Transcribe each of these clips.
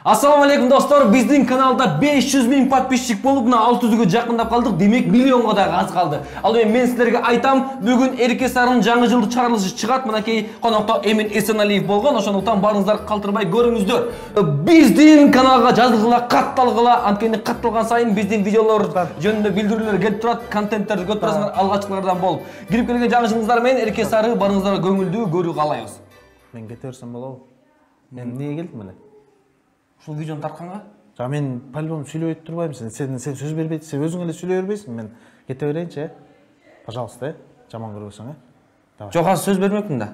Assalamu alaikum dostlar. Биздин каналда 500 000 подписчик болуп, 600-гө жакындап калдык. Демек, миллионго да аз калды. Ал эми мен силерге айтам, бүгүн Эрке Сарынын жаңы жылдык чыгарылышы чыгат. Мынакей конокто Эмин Эсеналиев болгон. Ошондуктан барыңыздар калтырбай көрүңүздөр. Биздин каналга жазылгыла, катталгыла. Анткени катталган сайын биздин видеолор жөнүндө билдирүүлөр келип турат, контенттерди көрүп турасыңар, алгачкылардан болуп. Кирип келген жаңы жылыңыздар менен Эрке Сары барыңыздар көңүлдүү көрүү каалайбыз. Мен кете берсем болобу? Мен эмнеге келдим эле? Ушул видеону тартканга? Жа мен по-любому сүйлөй турбайм. Сен сөз бербейт, сен өзүң эле сүйлөй бербейсиң. Мен кете берейинчи, пожалуйста, жаман көрбөсөң, Давай. Жок, азыр сөз бермекмин да.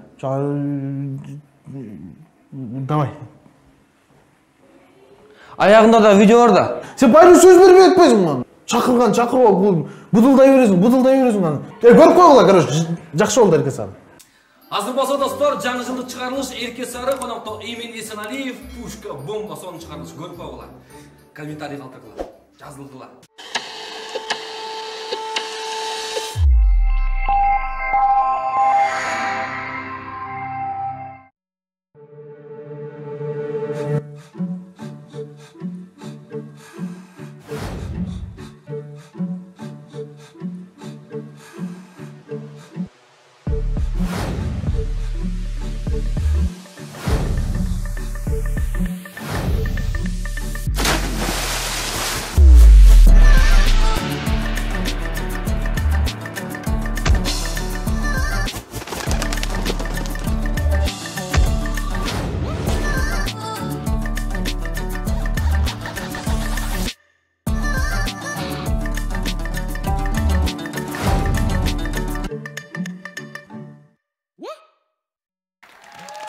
Давай. Аягында да видео бар да. Сен байры сөз бербей атпайсың мага. Чакырган чакырып, будулдай бересиң аны. Көрүп койгула, короче, жакшы болду Эрке Сары. Азыр болсо достор, жаңы жылдык чыгарылыш Эрке Сары конокто Эмин Эсеналиев пушка бомба сонун чыгарылыш көрүп койгула. Комментарий калтыргыла, жазылгыла.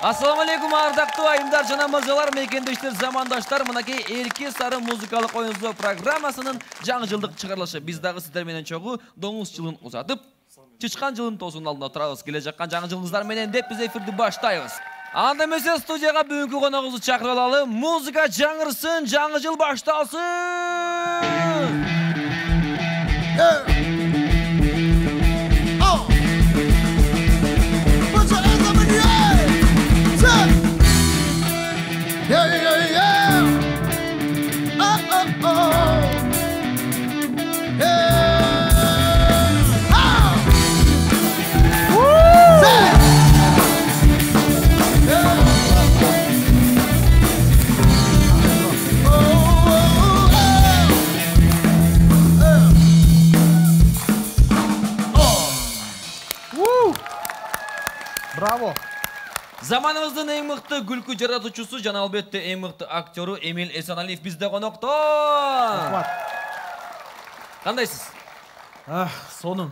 Assalamu alaikum ардактуу айымдар жана мырзалар, мекендештер, замандаштар. Мынакей Эрке Сары музыкалык оюн программасынын жаңы жылдык чыгарылышы. Биз дагы сиздер менен чогуу доңуз жылын узатып, чычкан жылын тоосунун алдында турабыз. Келе жаккан жаңы жылыңыздар менен деп биз эфирди баштайбыз. Анда эмесе студияга бүгүнкү коногубузду чакырып алалы. Музыка жаңырсын, жаңы жыл башталсын. Браво! Заманыбыздын эң мыкты күлкү жаратуучусу жана албетте эң мыкты актеру Эмин Эсеналиев бизде конокто. Кандайсыз? Сонун.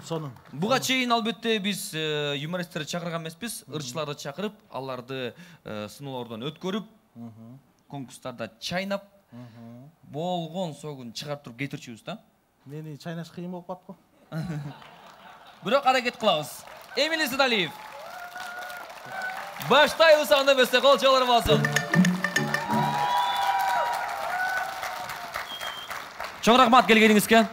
Буга чейин албетте биз юмористтерди чакырган эмеспиз, ырчыларды чакырып, аларды сыноолордон өткөрүп, конкурстарда чайнап, болгон согун чыгарып туруп кетирчүбүз да. Мени чайнаш кыйын болуп калат го. Бирок аракет кылабыз. Эмин Эсеналиев. Баштайбыз, анда эмесе кол чалар болсун. Чоң рахмат келгениңизге.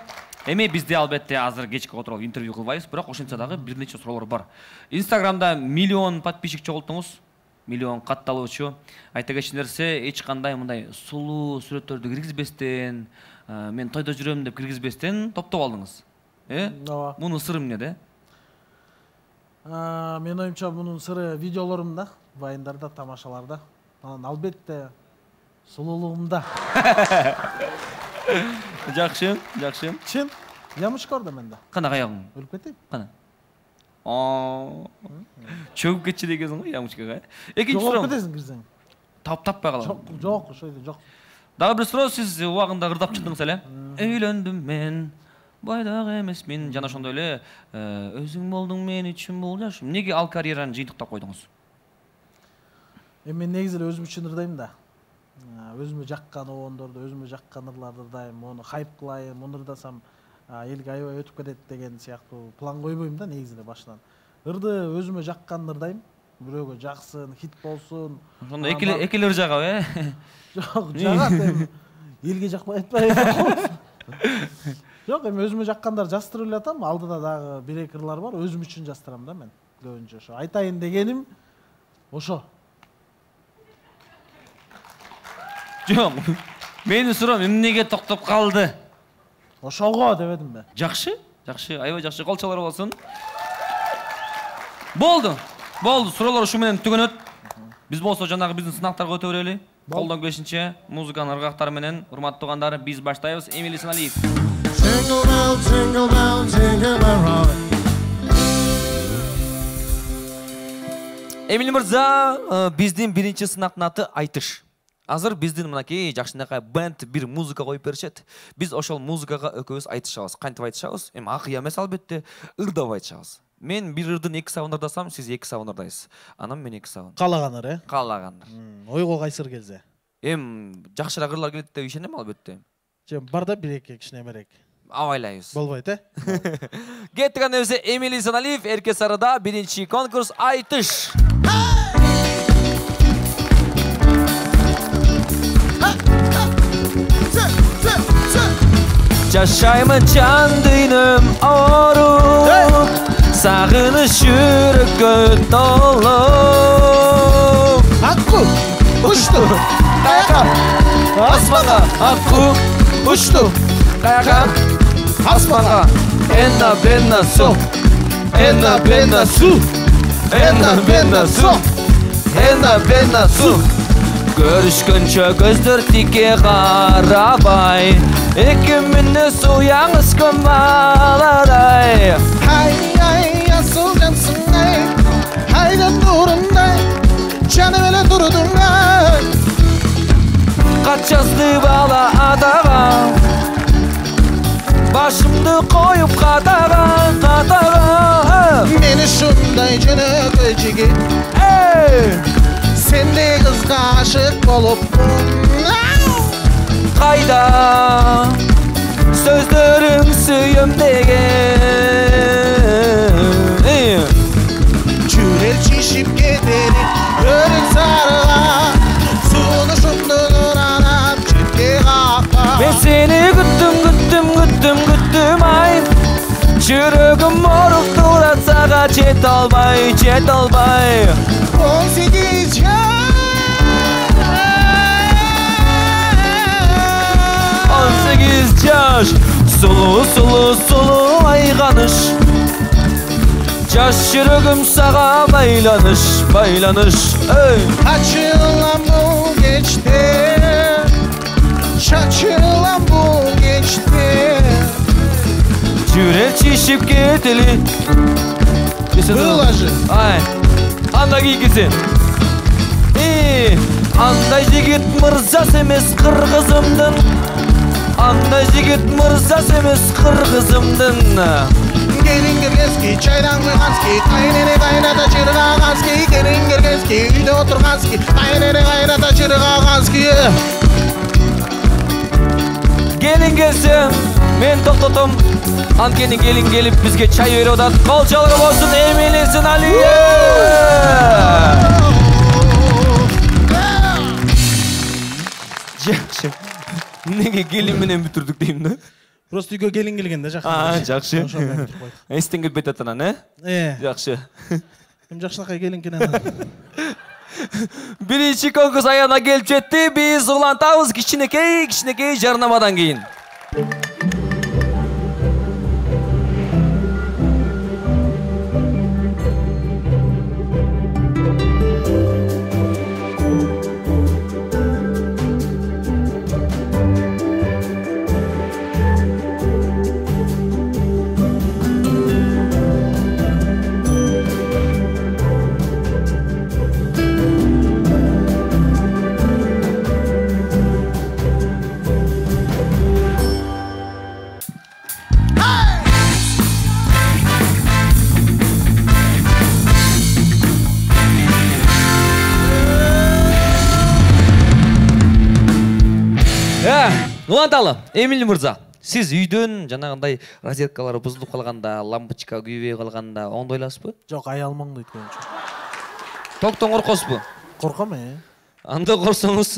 Эми бизде албетте азыр кечки отуруп интервью кылбайбыз, бирок ошентсе дагы бир нече суроолор бар. Инстаграмда миллион подписчик чогулттуңуз, миллион катталуучу. Айта кетчү нерсе, эч кандай мындай сулуу сүрөттөрдү киргизбестен, мен тойдо жүрөм деп киргизбестен топтоп алдыңыз. Ооба. Мунун сыры эмнеде? Мен оюмча мунун сыры видеолорумда, вайндарда, тамашаларда. Анан албетте сулуулугумда. Жакшы. Чын? Ямышкорда менде. Кана аягың? Өлүп кетейин. Кана. Чөгүп кетчү дегенсиң го ямышкага. Экинчи суроо. суроо. Өлүп кетесиң кирсең. Таппай калам. Жок, ошойдо жок. Дагы бир суроо, сиз убагында ырдап чыктыңыз эле. Өйлөндүм мен, байдак эмесмин. Жана ошондой эле өзүң болдуң мен үчүн бул жашым. Эмнеге ал карьераны жыйынтыктап койдуңуз? Мен негизи эле өзүм үчүн ырдайм да. Өзүмө жаккан обондорду, өзүмө жаккан ырларды ырдайм, муну хайп кылайын, муну ырдасам элге аябай өтүп кетет деген сыяктуу план койбойм да негизи эле башынан. Ырды өзүмө жакканын ырдайм, бирөөгө жаксын, хит болсун. Ошондо экелер жагабы, Жок, жагат эми. Элге жакпай атпайбы? Жок, эми өзүмө жаккандар жастырып эле атам, алдыда дагы бир-эки ырлар бар, өзүм үчүн жастырам да мен. Көбүнчө ошо. Айтайын дегеним ошо. Жок. Менин суроом эмнеге токтоп калды? Ошого дебедимби? Жакшы, аябай жакшы. Колчолор болсун. Болду. Суроолор ушу менен түгөнөт. Биз болсо жанагы биздин сынактарга өтө берели. Колдон келишинче музыканын ыргактары менен урматтуу туугандар, биз баштайбыз. Эмили Саналиев. Jingle bell, jingle bell, jingle bell rock. Эмили мырза, биздин биринчи сынактын аты айтыш. Азыр биздин мынакей жакшынакай бенд бир музыка коюп беришет. Биз ошол музыкага экөөбүз айтышабыз. Кантип айтышабыз? Эми акыя эмес албетте, ырдап айтышабыз. Мен бир ырдын 2 сабын ырдасам, сиз 2 сабын ырдайсыз. Анан мен 2 сабын. Каалагандар, Каалагандар. Ойго кайсыр келсе. Жакшыраак ырлар келет деп ишенем албетте. Бар да 1-2 кичинемерээк. Абайлайбыз. Болбойт, Кеттик анда эмесе Эмили Саналиев, Эрке Сарыда биринчи конкурс айтыш. Жашаймын жан дүйнөм ооруп, сагыныш жүрөккө толуп. Акку ушту каяка Асманга акку ушту, каяка асманга. Энна бенна су, энна бенна су, энна бенна су, энна бенна су. Көрүшкөнчө көздөр тике карабай, экимине суяңыз көмаладай. Ай, асыл жансың ай, айдан турундай, жаным эле турдуң ай. Качасты бала адага, башымды коюп катага. Мени шундай жөнөкөй жигит, сендей кызга ашык болупмун. Кайда сөздөрүң сүйөмдеген, Жүрек чишип кетери өрүк сарыга, сунушумду нуранап четке какка. мен сени күттүм ай, жүрөгүм оруп турат сага жете албай. 18 жаш 18 жаш, сулуу айганыш, жаш жүрөгүм сага байланыш. Ачылам бул кечте, чачылам бул кечте. Жүрек чишип кетели. Булажы. Ай, анда кийгизин. Андай жигит мырзас эмес кыргызымдын. Андай жигит мырзас эмес кыргызымдын. Келин киргенски, чайдан куйгански, кайнене кайната чыргагански. Келин киргенски, үйдө отургански, кайнене кайната чыргагански. Келин келсем, мен токтотом. Анткени келин келип бизге чай берип атат. Колчолор болсун Эмили Саналиев. Жакшы. Неге келин менен бүтүрдүк дейм да? Просто үйгө келин келген да жакшы. Жакшы. Эстен кетпейт атанан, Жакшы. Эми жакшынакай келин кенен. Биринчи конкурс аягына келип жетти. Биз улантабыз кичинекей жарнамадан кийин. Уланталы, Эмили мырза, сиз үйдөн жанагындай розеткалар бузулуп калганда, лампочка күйбөй калганда оңдойласызбы? Жок, аялмаңды өткөнчү. Токтон коркосузбу? Корком, Анда корсоңуз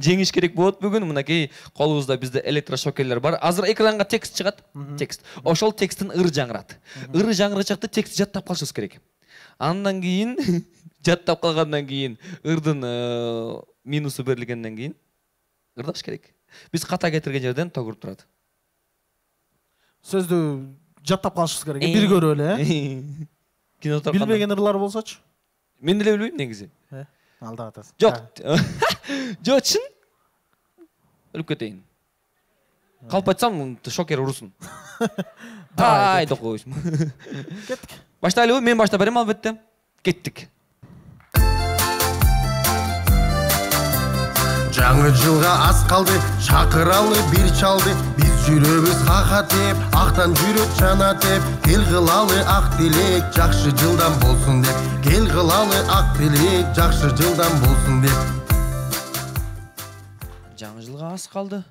жеңиш керек болот бүгүн. Мынакей колубузда бизде электрошокерлер бар. Азыр экранга текст чыгат. Текст. Ошол тексттин ыры жаңырат. Ыры жаңырачакты текстти жаттап калышыбыз керек. Андан кийин жаттап калгандан кийин ырдын минусу берилгенден кийин ырдаш керек. Биз ката кетирген жерден тогуруп турат. Сөздү жаттап калышыбыз керек. Бир көрүп эле, Кинода билбеген ырлар болсочу? Мен деле билбейм негизи. Алдап атасың. Жок. Жок, чын. Өлүп кетейин. Калп айтсам, шокер урусун. Ай, токойсуң. Кеттик. Баштайлыбы? Мен баштап берем албетте. Кеттик. Жаңы жылга аз калды, чакыралы бир чалды. Биз жүрөбүз хахатеп, актан жүрөк чанатеп. Кел кылалы ак тилек, жакшы жылдан болсун деп. Кел кылалы ак тилек, жакшы жылдан болсун деп. Жаңы жылга аз калды.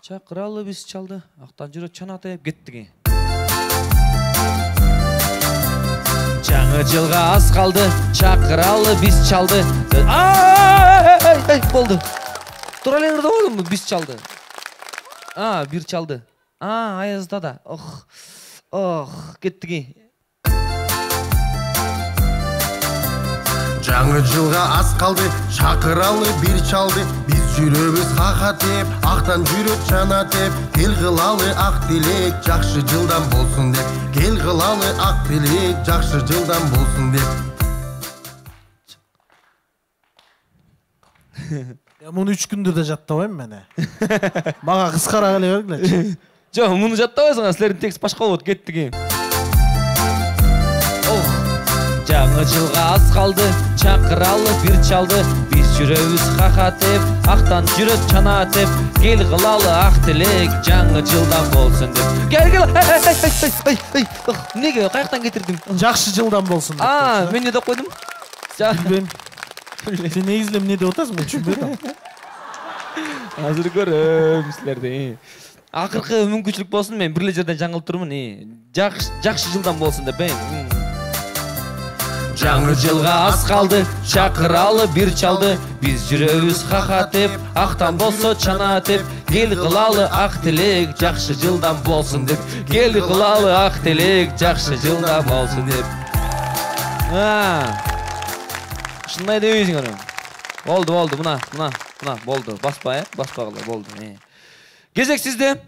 Чакыралы биз чалды, актан жүрөк чанатып кеттик. Жаңы жылга аз калды, чакыралы биз чалды. Ай, болду. Тура эле ырдап болдумбу? Биз чалды. Бир чалды. Аязда да. Кеттик. Жаңы жылга аз калды, чакыралы бир чалды. Биз жүрөбүз хахатеп, актан жүрөк чанатеп. Кел кылалы ак тилек, жакшы жылдан болсун деп. Кел кылалы ак тилек, жакшы жылдан болсун деп. Муну 3 күндө да жаттабайм мен. Мага кыскараак эле бергилечи. Жок, муну жаттабайсың, силердин текст башка болот. Кеттик. Жаңы жылга аз калды, чакыралы бир чалды. Биз жүрөбүз хахатеп, актан жүрөк чанатеп. Кел кылалы ак тилек, жаңы жылдан болсун деп. Кел. Неге каяктан кетирдим? Жакшы жылдан болсун деп. Мен эмне деп койдум? Билбейм. Сен негизи эмне деп атасың, мен түшүнбөйм. Азыр көрөм силерди. Акыркы мүмкүнчүлүк болсун, мен бир эле жерден жаңылып турмун. Жакшы жылдан болсун деп. Жаңы жылга аз калды, чакыралы бир чалды. Биз жүрөбүз хахатеп, актан болсо чанатеп. Кел кылалы ак тилек, жакшы жылдан болсун деп. Кел кылалы ак тилек, жакшы жылдан болсун деп. Ушундай дебейсиң аны. Болду, мына, болду. Баспа, баспагыла, болду. Кезек сизде.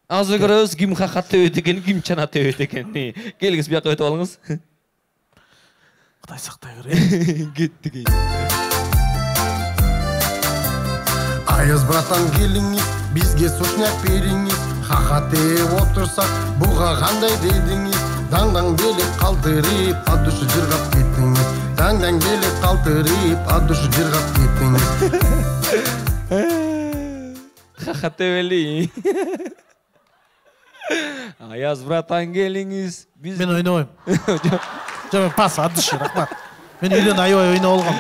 Азыр көрөбүз ким хахатеп өтөт экен, ким чанатеп өтөт экен. Келиңиз бияка өтүп алыңыз. Кудай сактай көрөйүн. Кеттик. Аяз братан келиңиз, бизге сушняк бериңиз. Хахатеп отурсак, буга кандай дедиңиз? Даңдаң белек калтырып, ат душу жыргап кеттиңиз. Даңдаң белек калтырып, ат душу жыргап кеттиңиз. Хахатеп эли. Аяз братан келиңиз, биз Мен ойнобойм. Жок, пас, ат душу, рахмат. Мен үйдөн аябай ойноп алгам.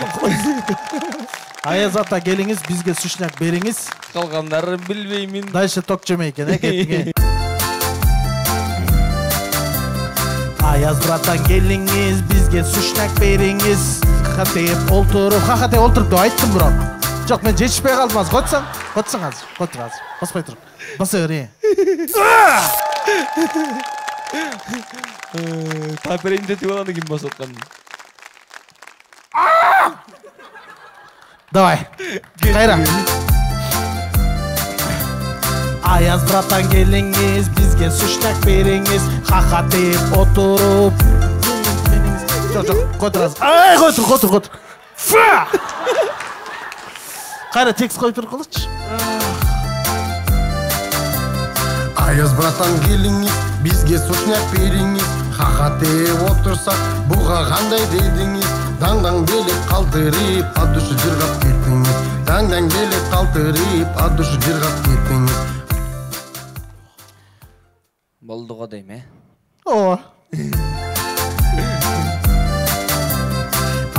Аяз ата келиңиз, бизге сушняк бериңиз. Калгандарын билбеймин. Дальше ток жемей экен, кеттик. Аяз братан келиңиз, бизге сушняк бериңиз. Хахатеп олтуруп деп айттым бирок. Жок, мен жетишпей калдым азыр. Котсоң азыр. Котур азыр. Баспай туруп. Баса бер. Таперейин детип алганда ким басып аткан? Давай. Кайра. Аяз братан келиңиз, бизге сушняк бериңиз. Хахатеп отуруп. Жок, котур азыр. Котур. Кайра текст коюп туруп калычы. Аяз братан келиңиз, бизге сушняк бериңиз. Хахатеп отурсак, буга кандай дедиңиз? Даңдаң белек калтырып, ат душу жыргап кеттиңиз. Даңдаң белек калтырып, ат душу жыргап кеттиңиз. Болду го дейм, Ооба.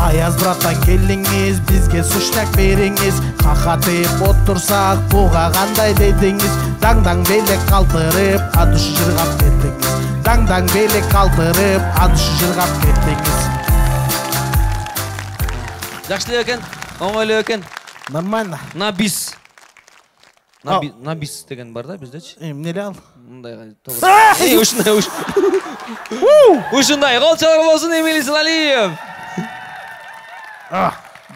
Аяз братан келиңиз, бизге сушняк бериңиз. Хахатеп отурсак, буга кандай дедиңиз? Даңдаң белек калтырып, ат душу жыргап кеттиңиз. Даңдаң белек калтырып, ат душу жыргап кеттиңиз. Жакшы эле экен, оңой эле экен. Нормально. На бис деген бар да биздечи. Эмне эле ал? Мындай ушундай кол чалар болсун Эмиль Исалиев.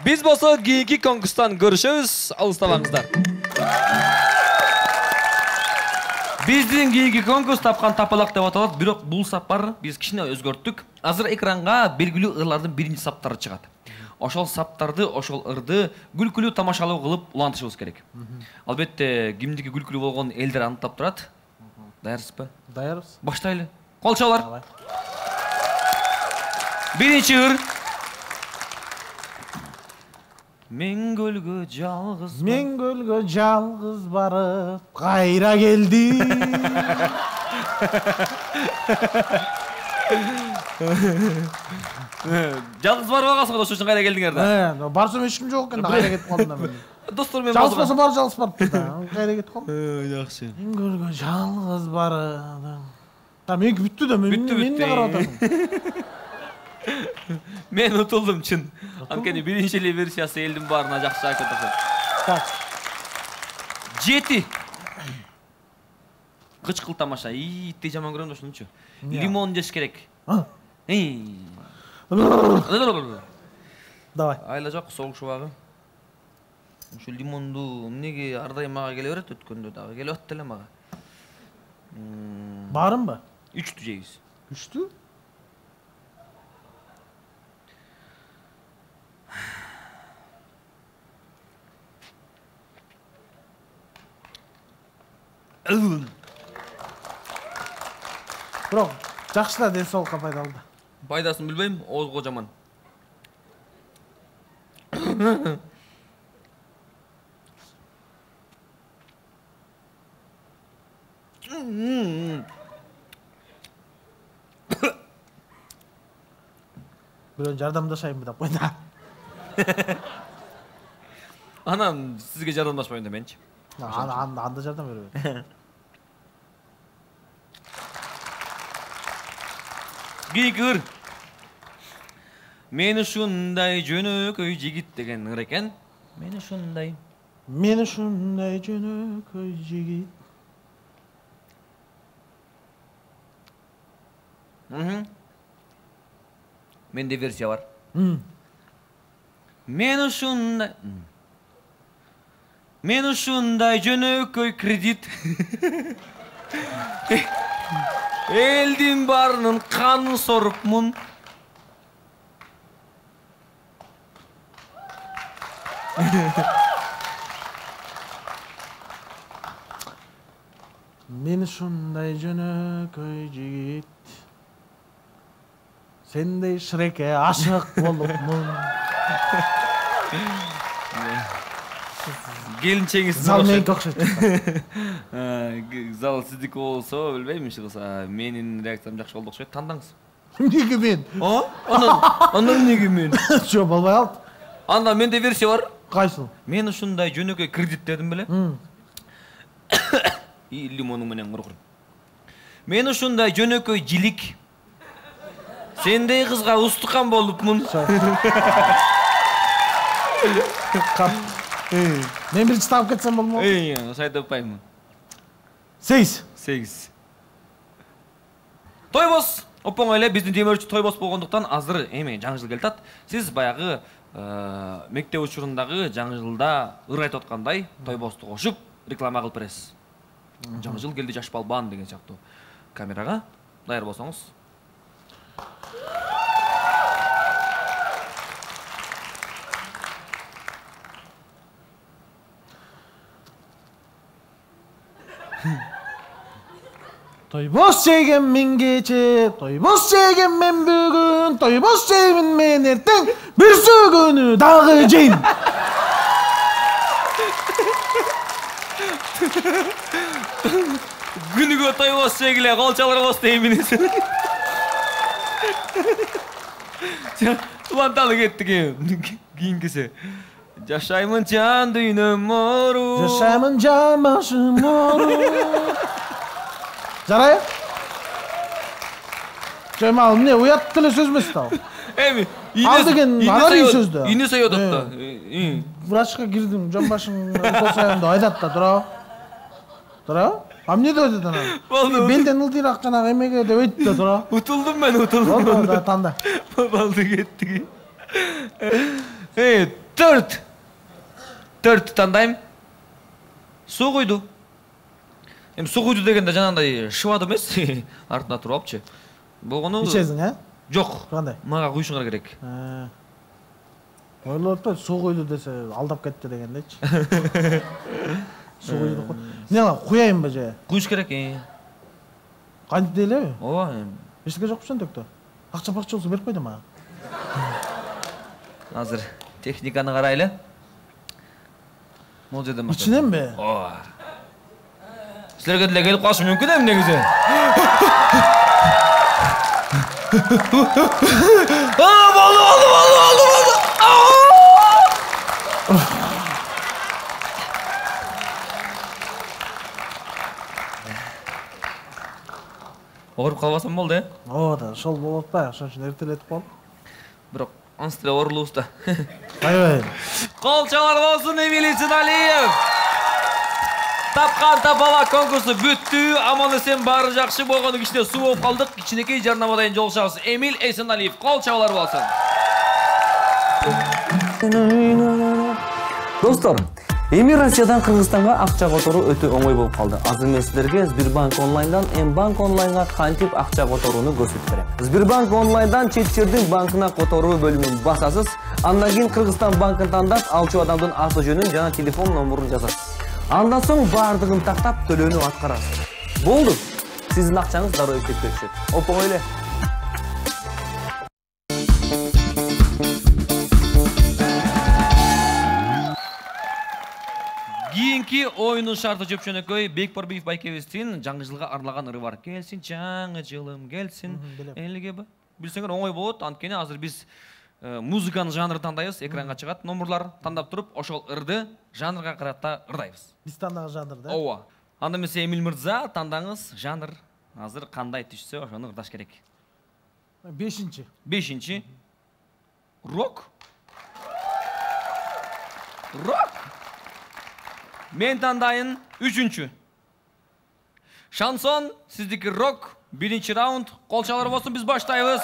Биз болсо кийинки конкурстан көрүшөбүз. Алыстабаңыздар. Биздин кийинки конкурс тапкан тапалак деп аталат, бирок бул сапар биз кичине өзгөрттүк. Азыр экранга белгилүү ырлардын биринчи саптары чыгат. Ошол саптарды, ошол ырды күлкүлүү тамашалоо кылып улантышыбыз керек. Албетте, кимдики күлкүлүү болгон элдер аныктап турат. Даярсызбы? Даярбыз. Баштайлы. Кол чабалар. Биринчи ыр. Мен көлгө жалгыз барып, кайра келди. Жалгыз барып алгансың, ошол үчүн кайра келдиңер да. Барсам эч ким жок экен да, кайра кетип калдым да мен. Достор менен жалгыз болсо бар жалгыз барыптыр да. Кайра кетип калдым. Жакшы. Мен көлгө жалгыз барып. Да меники бүттү да, мен эмне карап атасың? Мен утулдум чын. Анткени биринчи эле версиясы элдин баарына жакшы айтып атат. Так. 7. Кычкыл тамаша. Итти жаман көрөм да ушунчу. Лимон жеш керек. Давай. Айла жок, соолук шубагы. Ушу лимонду эмнеге ар дайым мага келе берет, өткөндө дагы келип атты эле мага. Барымбы? 3 жейбиз. 3? Бирок жакшы да, ден соолукка пайдалуу да. Пайдасын билбейм, оозго жаман. Бирөө жардамдашайынбы деп койду. Анан сизге жардамдашпайын деменчи. Анда жардам бербейт. Кийинки ыр. Мен ушундай жөнөкөй жигит деген ыр экен. Мен ушундай жөнөкөй жигит. Менде версия бар. Мен ушундай жөнөкөй кредит. Элдин баарынын канын сорупмун. Мен ушундай жөнөкөй жигит. Сендей Шрекке ашык болупмун. Келинчеңиз Зал меники окшойт. Зал сиздики болсо билбейм, иш кылса менин реакциям жакшы болду окшойт. Тандаңыз. Эмнеге мен? Анан эмнеге мен? Жок, болбой калды. Анда менде версия бар. Кайсыл? Мен ушундай жөнөкөй кредит дедим беле. Лимону менен кургур. Мен ушундай жөнөкөй жилик. Сендей кызга устукан болупмун. Мен биринчи таап кетсем болмок. Сайт аппаймын. 8. Тойбос оңой эле, биздин демөөрчү Тойбос болгондуктан азыр эми жаңы жыл келатат. Сиз баягы мектеп учурундагы жаңы жылда ыр айтып аткандай Тойбосту кошуп реклама кылып бересиз. Жаңы жыл келди, жаш балбан деген сыяктуу. Камерага даяр болсоңуз. Тойбос жеген мен кече, тойбос жеген мен бүгүн, тойбос жеймин мен эртең, бир сөгөнү дагы жейм. Күнүгө тойбос жегиле, кол чаларбыз дейминиз. Уланталы кеттик кийинкиси. Жашаймын жан дүйнөм мору. Жашаймын жан башым мору. Жарай? Жайма, эмне уят деле сөз эмес да. Эми, ал деген анан сөз да. Ине соёдот да. Врачка кирдим, жан башың укол деп айтат да, тура? А эмне деп айтат анан? Белден ылдыйраак жанагы эмеге деп айтты да, тура? Утулдум мен, утулдум. Болду да, танда. Балды кеттик. 4 тандайм. Суу куйду. Эми суу куйду дегенде жанагындай шыбады эмес, артында туруп алыпчы. Болгону ичесиң, а? Жок. Кандай? Мага куйушуңар керек. Ойлоп атпайбы, суу куйду десе алдап кетти дегендечи. Суу куйду деп. Эмне куяйынбы же? Куюш керек. Кантип делеби? Ооба. Эчтеке жокпу сендекте. Акча-пакча болсо берип кой да мага. Азыр техниканы карайлы. Могул жерден баштап. Ичиненби? Ооба. Силерге деле келип калышы мүмкүн эми негизи. Болду. Ооруп калбасам болду, Ооба да, ошол болуп атпайбы, ошон үчүн эртелетип калдым. Бирок ансы деле оорулуубуз да. Аябай. Кол чалар болсун Эмиль Эсеналиев. Тапкан тапала конкурсу бүттү. Аман-эсен баары жакшы болгону кичине суу болуп калдык. Кичинекей жарнамадан жолугушабыз. Эмиль Эсеналиев кол чалар болсун. Достор, эми Россиядан Кыргызстанга акча которуу өтө оңой болуп калды. Азыр мен силерге Сбербанк онлайндан Мбанк онлайнга кантип акча которууну көрсөтүп берем. Сбербанк онлайндан чет жердин банкына которуу бөлүмүн басасыз. Андан кийин Кыргызстан банкын тандап, алчу адамдын аты жөнүн жана телефон номурун жазасыз. Андан соң баардыгын тактап төлөөнү аткарасыз. Болду. Сиздин акчаңыз дароо эсепке түшөт. Оңой эле. Кийинки оюнун шарты жөпшөнөкөй Бекбарбиев байкебиздин жаңы жылга арналган ыры бар. Келсин жаңы жылым, келсин элге. Билсеңер оңой болот. Анткени азыр биз музыканын жанрын тандайбыз, экранга чыгат номурлар, тандап туруп, ошол ырды жанрга карата ырдайбыз. Биз тандаган жанр да? Ооба. Анда эмесе Эмиль мырза, тандаңыз жанр азыр кандай түшсө, ошону ырдаш керек. 5-чи. 5-чи. Рок. Рок. Мен тандайын 3-чү. Шансон, сиздики рок. 1-чи раунд. Кол чалар болсун, биз баштайбыз.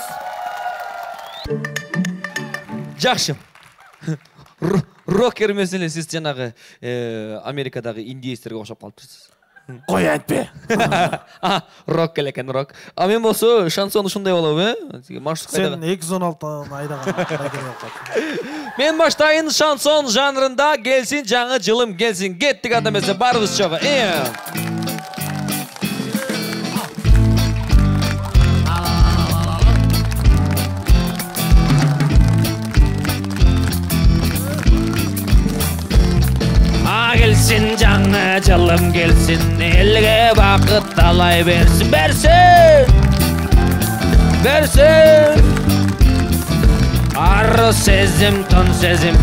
Жакшы. Рокер эмес эле, сиз жанагы Америкадагы индейцтерге окшоп калыпсыз. Кой айтпе. Рок экен, рок. А мен болсо шансон ушундай болобу, Сен 216 айдаган байкеге калып. Мен баштайын шансон жанрында келсин жаңы жылым келсин. Кеттик анда эмесе барыбыз чогуу. Gelsin жаңы жылым gelsin, elge bakıt alay versin, versin. Arı sezim, ton sezim,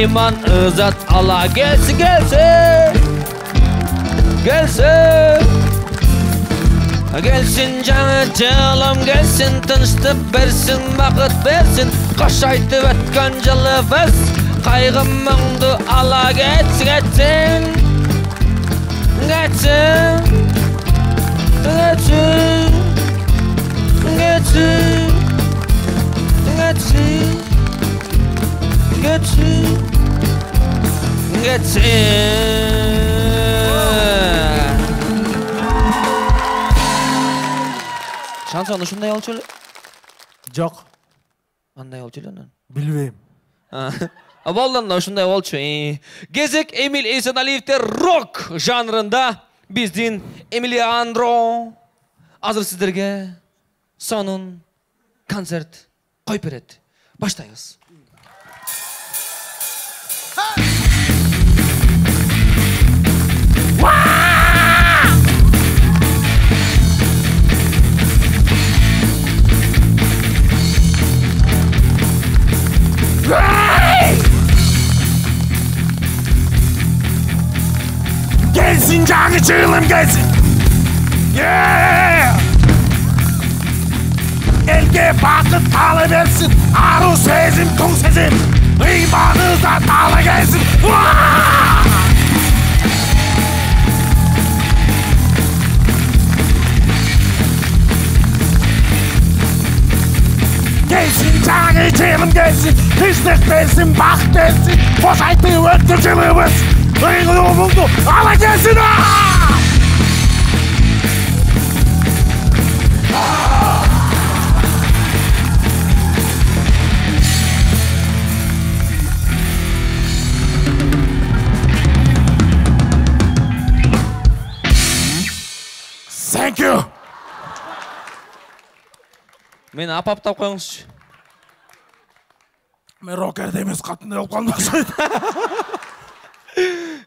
iman ızat ala gelsin. Gelsin жаңы жылым gelsin, tınçtık versin, bakıt versin. Koş aytıp ötken жылыбыз, kaygım mündü ala geçsin. Şanson uşunday olчу эле? Жок. Андай болчу эле анан? Билбейм. Болдон ушундай болчу. Кезек Эмиль Эсеналиевде рок жанрында биздин Эмилиандро азыр сиздерге сонун концерт коюп берет. Баштайбыз. Gelsin canı çığılım gelsin. Elge bakıp talı versin. Arı sezim, kum sezim. İmanınıza talı gelsin. Gelsin canı çığılım gelsin. Kışlık versin, bak versin. Boş aytı öttür çığılımız. болду. Ала келсин. Thank you. Мени апаптап коюңузчу. Мен рокерде эмес катындай болуп калдым окшойт.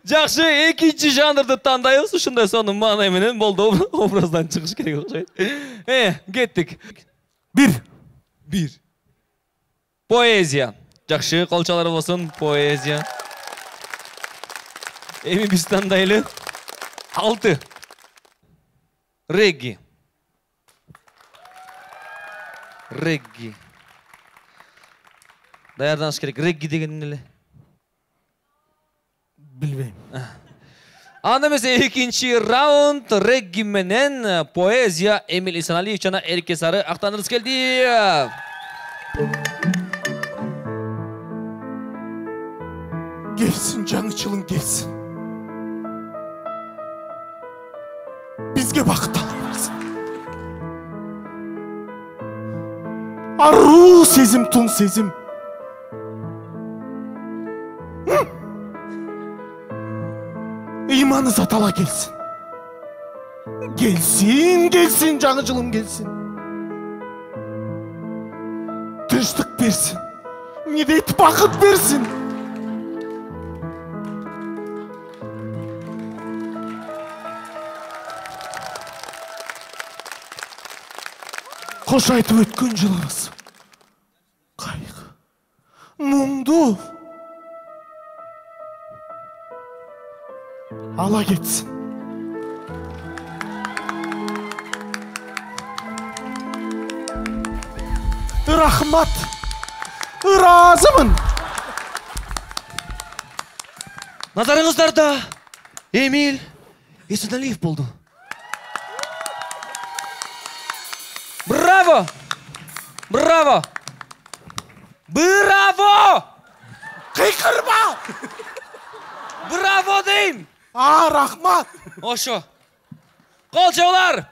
Жакшы, экинчи жанрды тандайбыз. Ушундай сонун маанай менен болду, образдан чыгыш керек окшойт. Кеттик. 1. Поэзия. Жакшы, колчолор болсун. Поэзия. Эми биз тандайлы. 6. Регги. Даярданыш керек. Регги деген эле. Билбейм. Анда эмесе экинчи раунд регги менен поэзия. Эмиль Исаналиев жана Эрке Сары актанырыс келди. Келсин, жаңы жылың келсин. Бизге бакыт ала берсин. Аруу сезим, тун сезим. Ыйманы затала келсин. Келсин, жаңы жылым келсин. Тынчтык берсин. Медет бакыт берсин. Кош айтып өткөн жылыбыз. Кайгы, муңду ала кетсин. Рахмат. Ыраазымын. Назарыңыздарда Эмиль Исаналиев болду. Браво! Браво! Браво! Кыйкырма! Браво дейм! Рахмат! Ошо. Колчолор!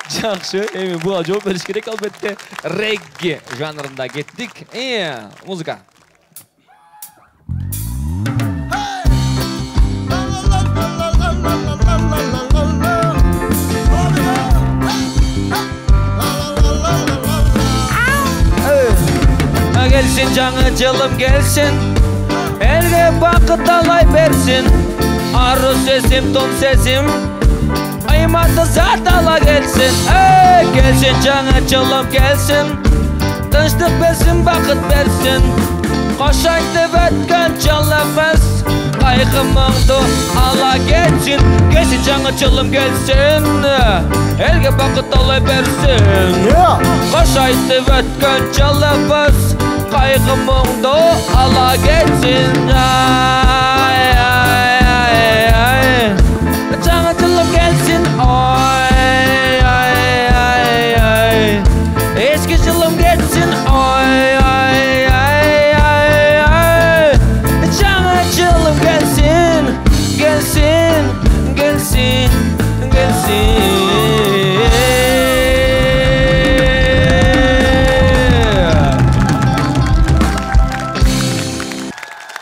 Жакшы, эми буга жооп бериш керек албетте. Регги жанрында кеттик. Музыка. Gelsin жаңы жылым gelsin, elge бакыт алай берсин. Ару сезим, тон сезим, айматы зат ала келсин. Gelsin жаңы жылым gelsin, тынчтык берсин, бакыт берсин. Кош айтып өткөн жылыбыз, кайгы муңду ала кетсин. Gelsin жаңы жылым gelsin, elge бакыт алай берсин. Кош айтып өткөн жылыбыз, кайгы муңду ала кетсин. Жаңы жылым келсин. Эски жылым кетсин. Жаңы жылым келсин. Келсин, келсин, келсин.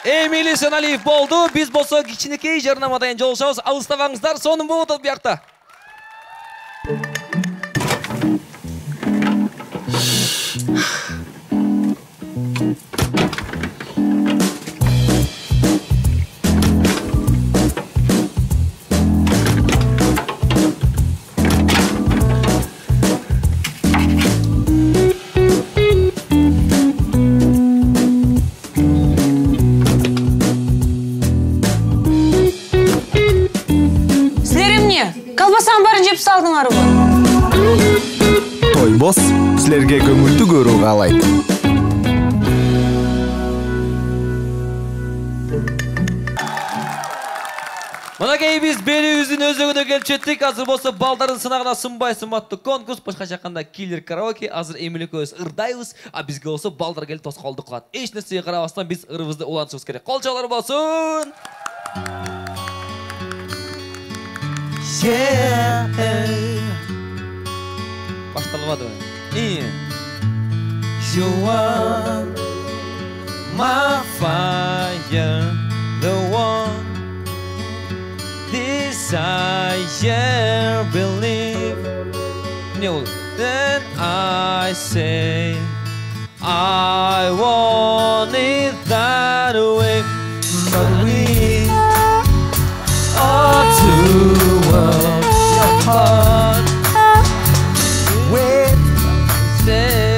Эмиль Исаналиев болду. Биз болсо кичинекей жарнамадан жолугушабыз. Алыстабаңыздар, сонун болуп атат биякта. Колбасаны барын жеп салдыңарбы? Тойбос силерге көңүлдүү көрүү каалайт. Мынакей биз белибиздин өзөгүнө келип жеттик. Азыр болсо балдардын сынагына сынбай сыматтуу конкурс, башкача айтканда киллер караоке. Азыр Эмиль экөөбүз ырдайбыз, а бизге болсо балдар келип тоскоолдук кылат. Эч нерсеге карабастан биз ырыбызды улантышыбыз керек. Колчолор болсун. Башталбады. You are my fire, the one desire, believe. Then I say I want it that way, but we are two worlds apart. When say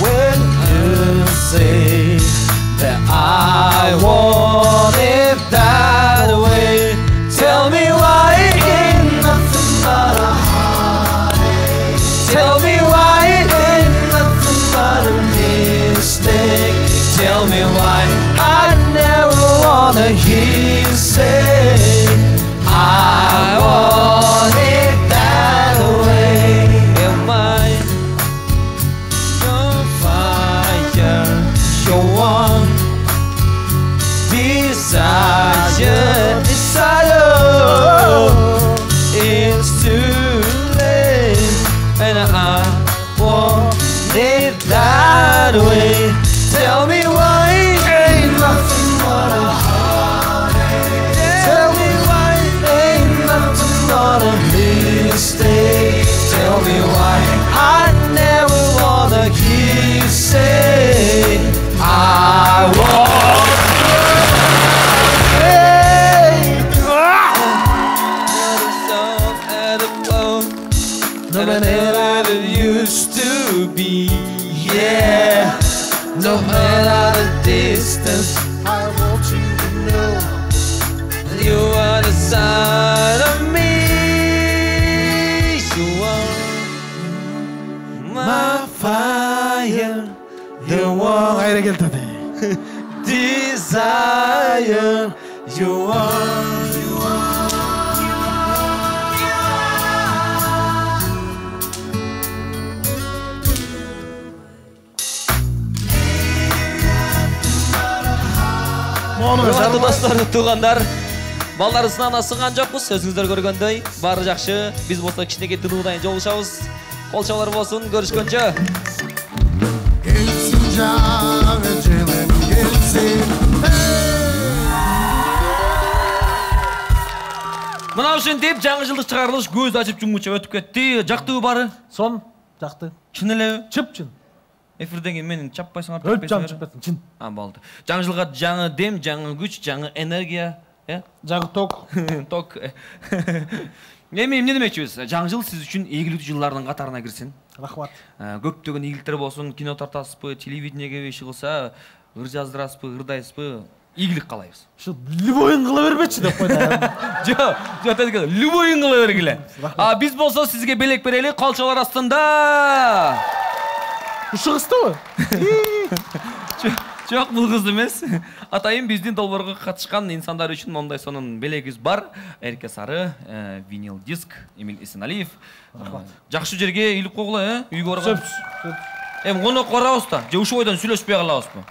when you say that I want it that way, tell me why it ain't nothing but a heartache. Tell me why it ain't nothing but a mistake. Tell me why I never wanna hear you say I want it that way. Am I your fire, your one desire, it's too late, and I want it that way. Tell me why it ain't nothing but a heartache. Tell me why it ain't nothing but a mistake. Tell me why I never wanna hear you say I want no matter it used to be, yeah. No matter the distance, I want you to know you are the side of me. You are my fire, the one Кайра келтеди. desire. You are. Урматтуу достор, туугандар, балдар сынагына сынган жокпуз. Өзүңүздөр көргөндөй, баары жакшы. Биз болсо кичинекей тынуудайын жолугушабыз. Колчолор болсун, көрүшкөнчө. Келсин жаңы жылым келсин. Мына ушинтип жаңы жылдык чыгарылыш көз ачып жумгуча өтүп кетти. Жактыбы баары? Сон, жакты. Чын элеби? Чып-чын. Эфирден кийин мени чаппайсыңар. Өлүп чамчып кеттим, чын. Болду. Жаңы жылга жаңы дем, жаңы күч, жаңы энергия, Жаңы ток. Ток. Эми эмне демекчибиз? Жаңы жыл сиз үчүн ийгиликтүү жылдардын катарына кирсин. Рахмат. Көптөгөн ийгиликтер болсун, кино тартасызбы, телевидениеге иши кылса, ыр жаздырасызбы, ырдайсызбы? Ийгилик каалайбыз. Ушу любойун кыла бербечи деп койду. Жок, деди, любойун кыла бергиле. А биз болсо сизге белек берели, колчолор астында. Ушу кыздыбы? Жок, бул кыз эмес. Атайын биздин долбоорго катышкан инсандар үчүн мондай сонун белегибиз бар. Эрке сары, винил диск, Эмиль Эсеналиев. Жакшы жерге илип койгула, үйгө барган. Эми конок барабыз да, же ушул бойдон сүйлөшпөй калабызбы?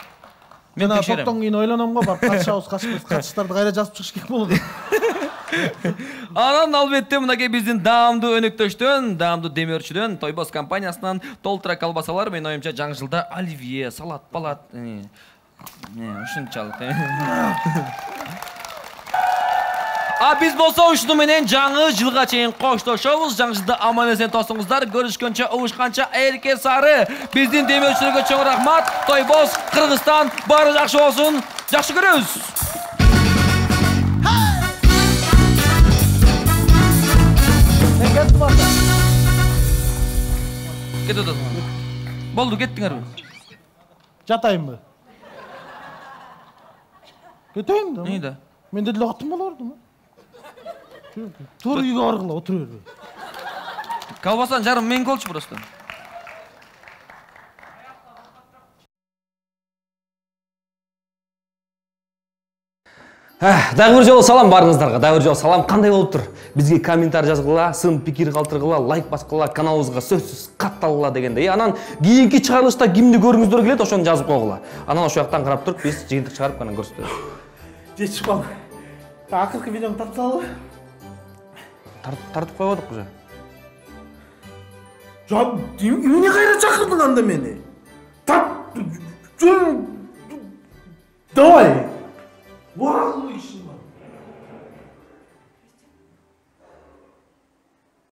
Мен токтон кийин ойлоном го, барып катышабыз, катыштарды кайра жазып чыгыш керек болот. Анан албетте мынакей биздин даамдуу өнөктөштөн, даамдуу демөөрчүдөн, Тойбос компаниясынан толтура колбасалар, менин оюмча жаңы жылда оливье, салат, палат, ушунчалык. А биз болсо ушуну менен жаңы жылга чейин коштошобуз. Жаңы жылда аман эсен тосуңуздар. Көрүшкөнчө, угушканча, эрке сары. Биздин демөөрчүлөргө чоң рахмат. Тойбос, Кыргызстан, баары жакшы болсун. Жакшы көрөбүз. Кетет. Болду, кеттиңерби? Жатайынбы? Кетейин да. Нейда? Мен деле аттым болордум. Тур үйгө баргыла, отура бербей. Колбасан жарым мен болчу просто. Дагы бир жолу салам барыңыздарга. Дагы бир жолу салам. Кандай болуптур? Бизге комментарий жазгыла, сын пикир калтыргыла, лайк баскыла, каналыбызга сөзсүз катталгыла дегенде. Анан кийинки чыгарылышта кимди көргүңүздөр келет, ошону жазып койгула. Анан ошол жактан карап туруп биз жыйынтык чыгарып анан көрсөтөбүз. Жетишип калды. Акыркы видеону тартып салалы. Тартып койбодук уже. Эмне кайра чакырдың анда мени? Давай.